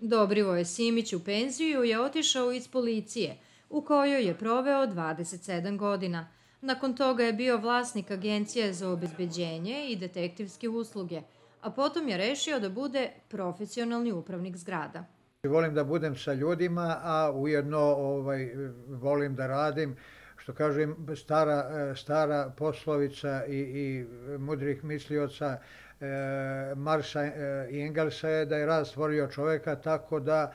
Dobrivoje Simić u penziju je otišao iz policije, u kojoj je proveo 27 godina. Nakon toga je bio vlasnik agencije za obezbeđenje i detektivske usluge, a potom je rešio da bude profesionalni upravnik zgrada. Volim da budem sa ljudima, a ujedno volim da radim. Što kažem, stara poslovica i mudrih mislioca Marsa i Engelsa je da je rad stvorio čoveka, tako da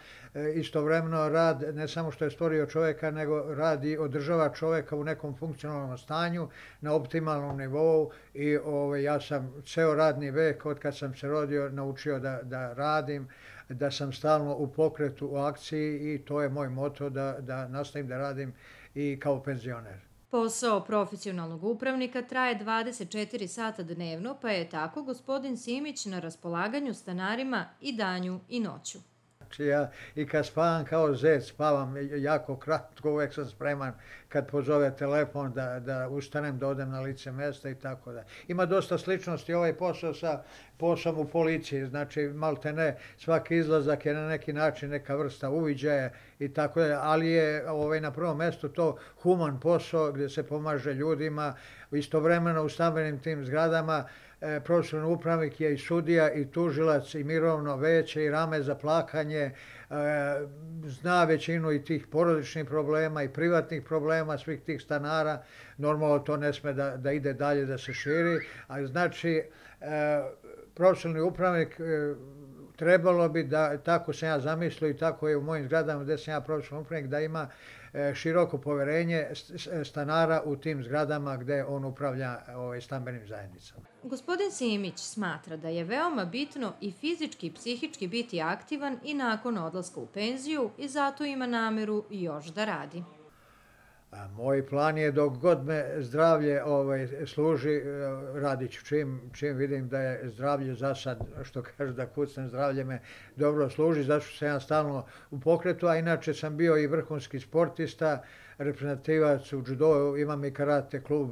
istovremeno rad ne samo što je stvorio čoveka, nego rad i održava čoveka u nekom funkcionalnom stanju, na optimalnom nivou i ja sam ceo radni vek, od kad sam se rodio, naučio da radim, da sam stalno u pokretu, u akciji i to je moj moto da nastavim da radim i kao penzioner. Posao profesionalnog upravnika traje 24 sata dnevno, pa je tako gospodin Simić na raspolaganju stanarima i danju i noću. Znači ja i kad spavam kao zec, spavam jako kratko, uvek sam spreman kad pozove telefon da ustanem, da odem na lice mesta i tako da. Ima dosta sličnosti ovaj posao sa poslom u policiji, znači malte ne, svaki izlazak je na neki način neka vrsta uviđaja i tako da, ali je na prvom mestu to human posao gdje se pomaže ljudima, istovremeno u stambenim tim zgradama. Profesionalni upravnik je i sudija i tužilac i mirovno veće i rame za plakanje, zna većinu i tih porodičnih problema i privatnih problema svih tih stanara. Normalno to ne sme da ide dalje, da se širi, ali znači profesionalni upravnik trebalo bi da, tako sam ja zamislio i tako je u mojim zgradama gde sam ja profesionalni upravnik, da ima široko poverenje stanara u tim zgradama gde on upravlja stambenim zajednicama. Gospodin Simić smatra da je veoma bitno i fizički i psihički biti aktivan i nakon odlaska u penziju i zato ima nameru još da radi. Moj plan je dok god me zdravlje služi, radit ću čim vidim da je zdravlje za sad, što kaže da kucnem, zdravlje me dobro služi, zato što sam ja stalno u pokretu, a inače sam bio i vrhunski sportista, reprezentativac u džudou, imam i karate klub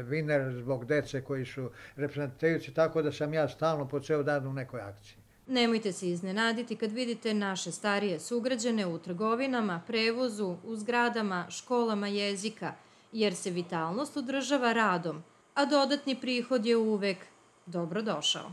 Viner zbog dece koji su reprezentativci, tako da sam ja stalno po ceo dan u nekoj akciji. Nemojte se iznenaditi kad vidite naše starije sugrađane u trgovinama, prevozu, u zgradama, školama jezika, jer se vitalnost održava radom, a dodatni prihod je uvek dobrodošao.